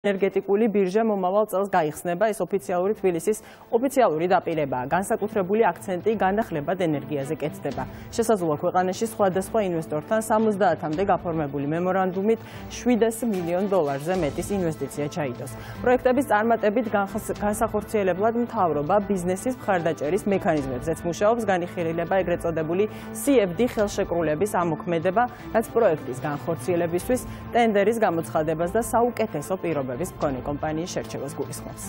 ენერგეტიკული ბირჟა მომავალ წელს გაიხსნება, ეს ოფიციალური თბილისის ოფიციალური დაპირებაა. განსაკუთრებული აქცენტი განახლებად ენერგიაზე კეთდება. შესაძლოა ქვეყანაში სხვადასხვა ინვესტორთან 70-მდე გაფორმებული მემორანდუმით $700 მილიონ მეტის ინვესტიცია ჩაიდოს. პროექტების წარმატებით განსახორციელებლად მთავრობა ბიზნესის მხარდაჭერის მექანიზმებზეც მუშაობს, განიხილება ეგრეთ წოდებული CFD ხელშეკრულების ამოქმედება, რაც პროექტის განხორციელებისთვის ტენდერის გამოცხადებას და საუკეთესო პირობებს მქონე კომპანიის შერჩევას გულისხმობს.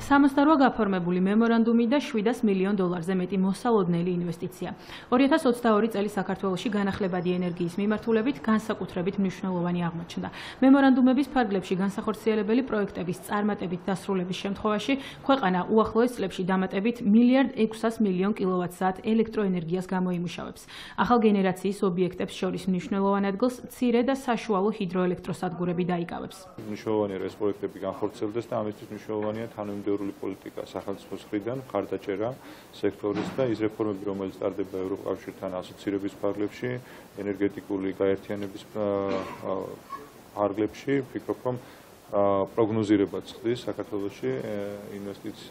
68 გაფორმებული მემორანდუმი და $700 მილიონ მეტი მოსალოდნელი ინვესტიცია. 2022 წელი საქართველოში განახლებადი ენერგიის მიმართულებით განსაკუთრებით მნიშვნელოვანი აღმოჩნდა. მემორანდუმების ფარგლებში განსახორციელებელი პროექტების წარმატებით დასრულების შემთხვევაში ქვეყანა უახლოეს წლებში დამატებით $1,600 მილიონ კილოვატ-საათ ელექტროენერგიას გამოიმუშავებს. ახალ გენერაციის ობიექტებს შორის მნიშვნელოვან ადგილს მცირე და საშუალო ჰიდროელექტროსადგურები დაიკავებს. მნიშვნელოვანია ეს პროექტები განხორციელდეს და ამისთვის მნიშვნელოვანია თანამედროვე პოლიტიკა სახელმწიფოს მხრიდან, მხარდაჭერა სექტორის და ის რეფორმები, რომელიც ტარდება ევროკავშირთან ასოცირების ფარგლებში, ენერგეტიკული გაერთიანების ფარგლებში, ვფიქრობ, რომ პროგნოზირებაც ხდის საქართველოში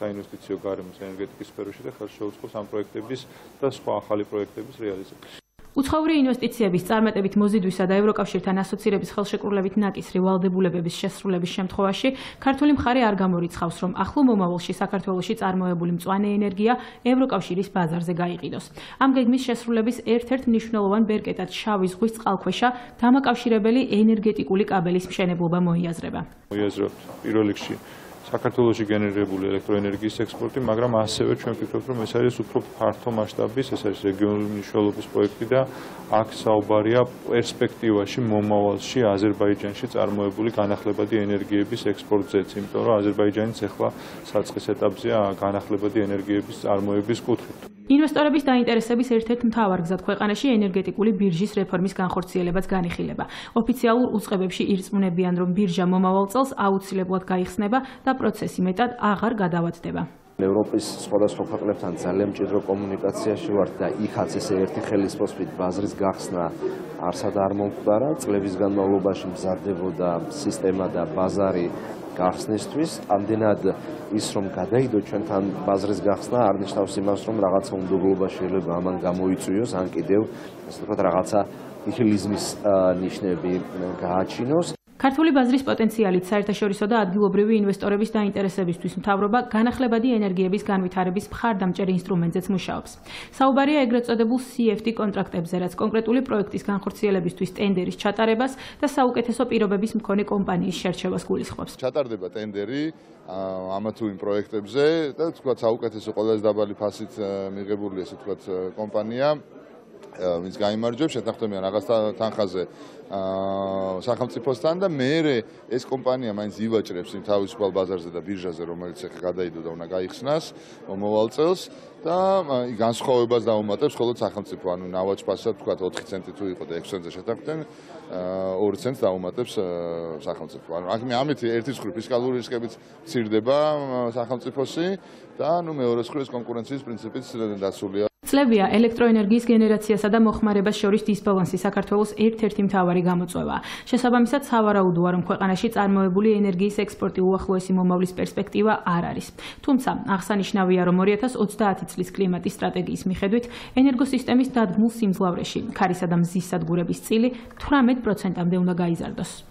საინვესტიციო გარემოს ენერგეტიკის სფეროში და ხელს შეუწყობს ამ პროექტების და სხვა ახალი პროექტების რეალიზაციას. უცხოური ინვესტიციების წარმატებით მოზიდვისა და ევროკავშირთან ასოცირების ხელშეკრულებით ნაკისრი ვალდებულებების შესრულების შემთხვევაში ქართული მხარე არ გამორიცხავს, რომ ახლო მომავალში საქართველოში წარმოებული მწვანე ენერგია ევროკავშირის ბაზარზე გაიყიდოს. ამ გეგმის შესრულების ერთ-ერთ მნიშვნელოვან ბერკეტად შავი ზღვის წყალქვეშა დამაკავშირებელი ენერგეტიკული კაბელის მშენებლობა მოიაზრება. მოიაზრებთ პირველ რიგში საქართველოში გენერირებული ელექტროენერგიის ექსპორტი, მაგრამ ასევე ჩვენ ვფიქრობთ, რომ ეს არის უფრო ფართო მასშტაბის, ეს არის რეგიონული მნიშვნელობის პროექტი და აქ საუბარია პერსპექტივაში მომავალში აზერბაიჯანში წარმოებული განახლებადი ენერგიების ექსპორტზეც, იმიტომ რომ აზერბაიჯანიც ახლა საწყის ეტაპზეა განახლებადი ენერგიების წარმოების კუთხით. ინვესტორების დაინტერესების ერთ-ერთ მთავარ გზად ქვეყანაში ენერგეტიკული ბირჟის რეფორმის განხორციელებაც განიხილება. ოფიციალურ უწყებებში ირწმუნებიან, რომ ბირჟა მომავალ წელს აუცილებლად გაიხსნება და პროცესი მეტად აღარ გადავადდება. ევროპის სხვადასხვა ქვეყნებთან ძალიან მჭიდრო კომუნიკაციაში ვართ და იქაც ესე ერთი ხელისმოსვლით ბაზრის გახსნა არსად არ მომხდარა. წლების განმავლობაში მზადდებოდა სისტემა და ბაზარი გახსნისთვის. ამდენად ის რომ გადაიდო ჩვენთან ბაზრის გახსნა არ ნიშნავს იმას, რომ რაღაცა უნდობლობა შეიძლება ამან გამოიწვიოს, ან კიდევ ასე ვთქვათ რაღაცა ნიჰილიზმის ნიშნები გააჩინოს. ქართული ბაზრის პოტენციალით საერთაშორისო და ადგილობრივი ინვესტორების დაინტერესებისთვის მთავრობა განახლებადი ენერგიების განვითარების მხარდამჭერ ინსტრუმენტზეც მუშაობს. საუბარია ეგრეთ წოდებულ CFD კონტრაქტებზე, რაც კონკრეტული პროექტის განხორციელებისთვის ტენდერის ჩატარებას და საუკეთესო პირობების მქონე კომპანიის შერჩევას გულისხმობს. ჩატარდება ტენდერი ამა თუ იმ პროექტებზე და თქვა საუკეთესო ყველაზე დაბალი ფასით მიღებული ესე თქვა კომპანია ვინც გაიმარჯვებს, შეთანხმდებიან რაღაც თანხაზე სახელმწიფოსთან და მერე ეს კომპანია მაინც ივაჭრებს იმ თავისუფალ ბაზარზე და ბირჟაზე, რომელიც ახლა გადაიდო და უნდა გაიხსნას მომავალ წელს და განსხვავებას დაუმატებს მხოლოდ სახელმწიფო, ანუ ნავაჭ-ფასად თქვა 4 ცენტი თუ იყო და 6 ცენტზე შეთანხმდნენ, 2 ცენტს დაუმატებს სახელმწიფო. ანუ ამით ერთის მხრივ ფისკალური რისკებიც მცირდება სახელმწიფოსი და მეორე მხრივ ეს კონკურენციის პრინციპიც დაცულია. წლებია ელექტროენერგიის გენერაციასა და მოხმარებას შორის დისბალანსი საქართველოს ერთ-ერთი მთავარი გამოწვევაა. შესაბამისად, სავარაუდოა, რომ ქვეყანაში წარმოებული ენერგიის ექსპორტი უახლოესი მომავლის პერსპექტივა არ არის. თუმცა, აღსანიშნავია, რომ 2030 წლის კლიმატის სტრატეგიის მიხედვით ენერგოსისტემის დადგმულ სიმძლავრეში ქარისა და მზის სადგურების წილი 18%-მდე უნდა გაიზარდოს.